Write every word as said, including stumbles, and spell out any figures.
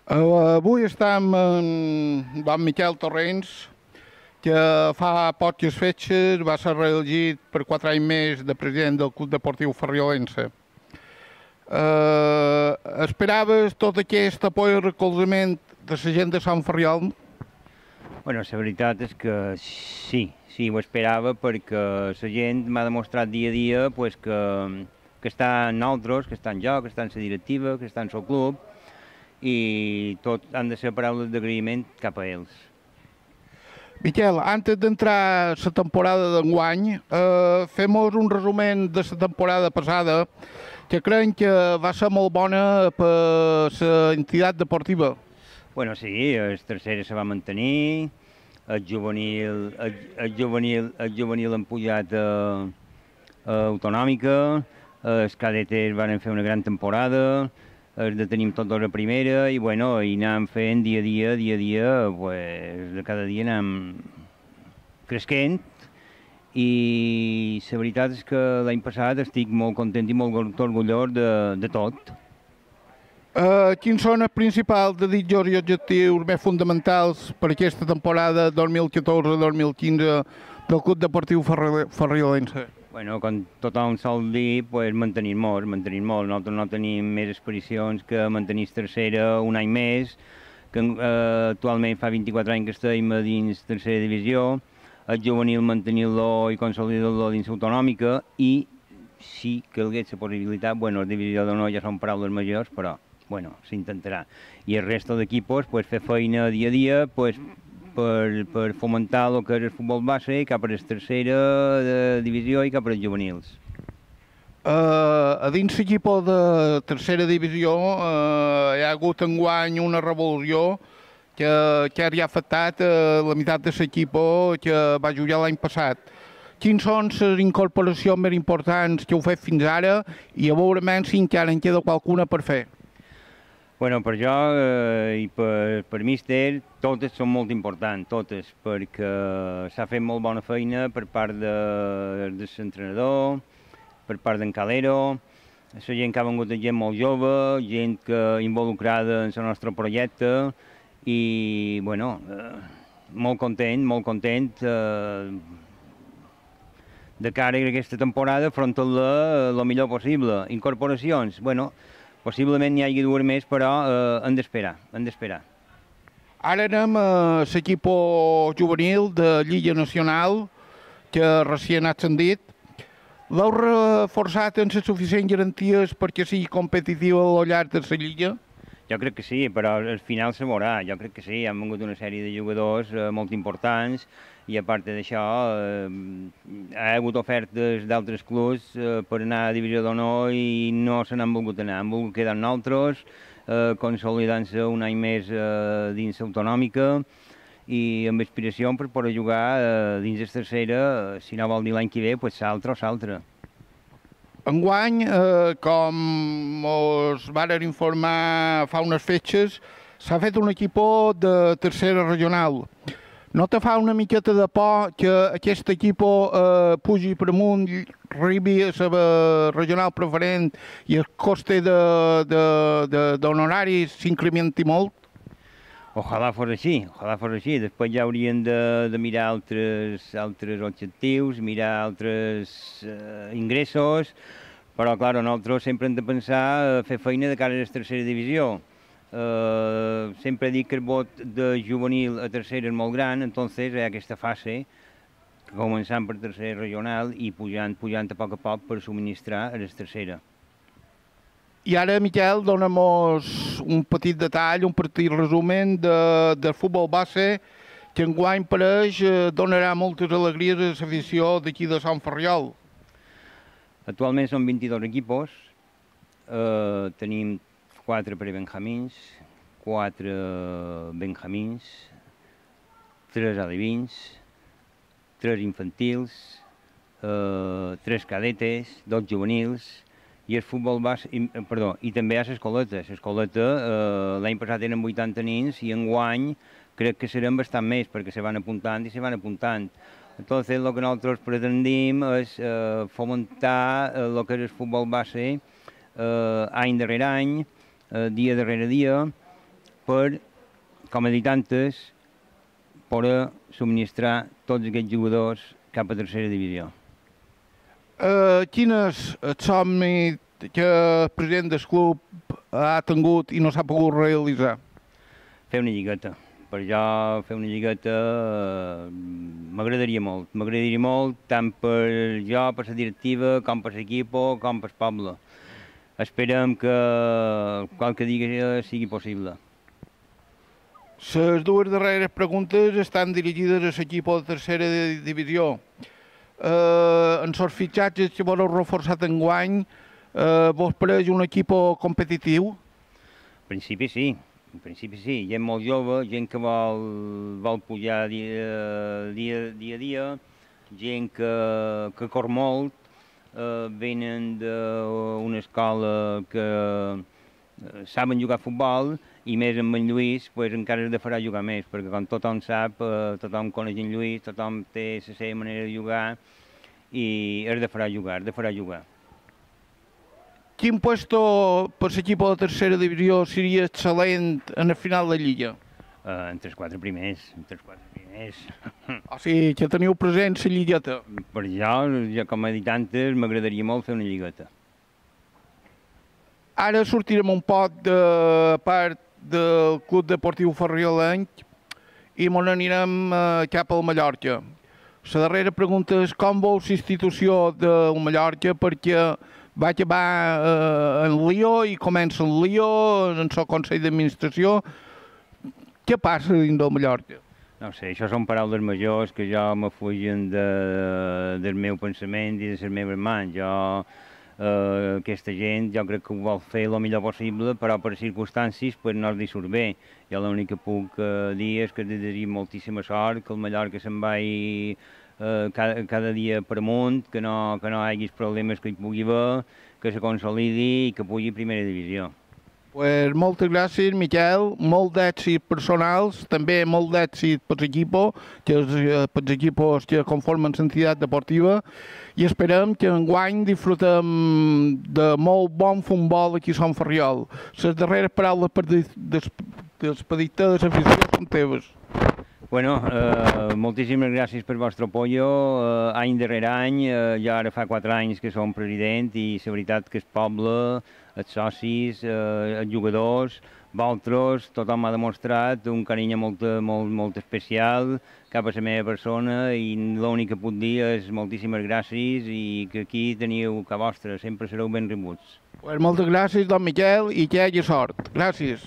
Uh, avui estem amb don Miquel Torrents, que fa poques fetges va ser reelegit per quatre anys més de president del Club Deportiu Ferriolense. Uh, esperaves tot aquest apoio i recolzament de la gent de Sant Ferriol? Bueno, la veritat és que sí, sí, ho esperava perquè la gent m'ha demostrat dia a dia pues, que, que està en nosaltres, que està en jo, que està en la directiva, que està en el club, i tot han de ser paraules d'agraïment cap a ells. Miquel, antes d'entrar a la temporada d'enguany, eh, fem-nos un resumen de la temporada passada, que crec que va ser molt bona per la entitat deportiva. Bueno, sí, el tercer se va mantenir, el juvenil, el, el juvenil, el juvenil han pujat a, a autonòmica, els cadetes van fer una gran temporada, els de tenim tots a primera i, bueno, i anem fent dia a dia, dia a dia, pues, de cada dia anem cresquent i la veritat és que l'any passat estic molt content i molt orgullós de, de tot. Uh, quins són els principals desitjos i objectius més fonamentals per aquesta temporada dos mil catorze dos mil quinze del Club Deportiu Ferriolense? Bueno, com tothom sol dir, pues, mantenir-nos, mantenir-nos. Nosaltres no tenim més aspiracions que mantenir tercera un any més, que eh, actualment fa vint-i-quatre anys que estem a dins tercera divisió, el juvenil mantenir-lo i consolidar-lo dins autonòmica i si calgués la possibilitat, bueno, la divisió d'honor ja són paraules majors, però bueno, s'intentarà. I el resto d'equipos, pues, fer feina dia a dia, pues, per, per fomentar el que és el futbol base cap a la tercera de divisió i cap a els juvenils. Uh, a dins l'equip de tercera divisió uh, hi ha hagut enguany una revolució que, que ha afectat uh, la meitat de l'equip que va jugar l'any passat. Quins són les incorporacions més importants que heu fet fins ara i a veure menys si encara en queda qualcuna per fer? Bueno, per jo eh, i per, per míster, totes són molt importants, totes, perquè s'ha fet molt bona feina per part de, de l'entrenador, per part d'en Calero, la gent que ha vengut gent molt jove, gent que involucrada en el nostre projecte i, bueno, eh, molt content, molt content eh, de cara a aquesta temporada, afrontar-la el millor possible. Incorporacions, bueno, possiblement n'hi hagi dues més, però eh, hem d'esperar, hem d'esperar. Ara anem a l'equip juvenil de Lliga Nacional, que recient ha ascendit. L'heu reforçat amb les suficients garanties perquè sigui competitiu al llarg de la Lliga? Jo crec que sí, però al final se veurà. Jo crec que sí, han vingut una sèrie de jugadors eh, molt importants i a part d'això eh, hi ha hagut ofertes d'altres clubs eh, per anar a divisió d'honor i no se n'han volgut anar, han volgut quedar nosaltres, eh, consolidant-se un any més eh, dins autonòmica i amb aspiració per poder jugar eh, dins la tercera, eh, si no vol dir l'any que ve, pues s'altre o s'altre. Enguany, eh, com us varen informar fa unes fetges, s'ha fet un equip de tercera regional. No te fa una miqueta de por que aquest equip eh, pugi per amunt, arribi a la regional preferent i el coste d'honoraris s'incrementi molt? Ojalà fos així, ojalà fos així. Després ja haurien de, de mirar altres, altres objectius, mirar altres eh, ingressos, però, clar, nosaltres sempre hem de pensar a fer feina de cara a la tercera divisió. Uh, sempre dic que el vot de juvenil a tercera és molt gran, entonces hi ha aquesta fase, començant per tercera regional i pujant, pujant a poc a poc per subministrar a la tercera. I ara, Miquel, dóna-mos un petit detall, un petit resumen de, del futbol base que enguany pareix eh, donarà moltes alegries a l'afició d'aquí de Sant Ferriol. Actualment són vint-i-dos equipos, uh, tenim quatre prebenjamins, quatre benjamins, tres alevins, tres infantils, eh, tres cadetes, dos juvenils, i el futbol base, i, perdó, i també hi ha l'escoleta. L'escoleta eh, l'any passat eren vuitanta nins i enguany crec que seran bastant més perquè se van apuntant i se van apuntant. Entonces, lo que nosaltres pretendim és eh, fomentar eh, lo que és el futbol base eh, any darrere any, eh, dia darrere dia, per, com he dit antes, poder subministrar tots aquests jugadors cap a tercera divisió. Uh, quin és el somni que el president del club ha tingut i no s'ha pogut realitzar? Fer una lligueta. Per jo, fer una lligueta eh, m'agradaria molt. M'agradaria molt tant per jo, per la directiva, com per l'equip, com per el poble. Esperem que qualque dia sigui possible. Les dues darreres preguntes estan dirigides a l'equip de tercera divisió. Eh, en els fitxatges que voleu reforçar enguany, eh, vos pareix un equip competitiu? En principi sí, en principi sí. Gent molt jove, gent que vol, vol pujar dia, dia, dia a dia, gent que, que cor molt, eh, venen d'una escola que eh, saben jugar a futbol, i més amb en Lluís pues, encara es de farà jugar més, perquè com tothom sap, eh, tothom coneix en Lluís, tothom té la seva manera de jugar i es de farà jugar, es de farà jugar. Quin puesto per l'equip de tercera divisió seria excel·lent en el final de Lliga? Uh, entre els quatre primers, entre els quatre primers. O sigui, que teniu present la lligueta. Per jo, jo, com he dit antes, m'agradaria molt fer una lligueta. Ara sortirem un poc de part del Club Deportiu Ferriolenc i ens anirem eh, cap al Mallorca. La darrera pregunta és com veu la institució del Mallorca, perquè va acabar eh, en lío i comença en lío, en el Consell d'Administració. Què passa dins del Mallorca? No sé, això són paraules majors que jo me fugen de, del meu pensament i de les meves mans. Jo, eh, aquesta gent, jo crec que ho vol fer el millor possible, però per circumstàncies pues, no els hi surt bé. Jo l'únic que puc eh, dir és que desitjo moltíssima sort, que el Mallorca se'n vagi eh, cada, cada dia per amunt, que no, que no hi hagi problemes que hi pugui haver, que se consolidi i que pugui a primera divisió. Pues moltes gràcies, Miquel, molt d'èxit personals, també molt d'èxit per l'equip, que és per els equips que conformen l'entitat deportiva, i esperem que enguany disfrutem de molt bon futbol aquí a Sant Ferriol. Les darreres paraules per despedir-te de l'afició són teves. Bueno, eh, moltíssimes gràcies per el vostre apoyo. Eh, any darrere any, eh, jo ara fa quatre anys que som president i la veritat que el poble, els socis, eh, els jugadors, vosaltres, tothom m'ha demostrat un carinyo molt, molt, molt especial cap a la meva persona i l'únic que puc dir és moltíssimes gràcies i que aquí teniu que vostre, sempre sereu ben rebuts. Pues moltes gràcies, don Miquel, i que hi hagi sort. Gràcies.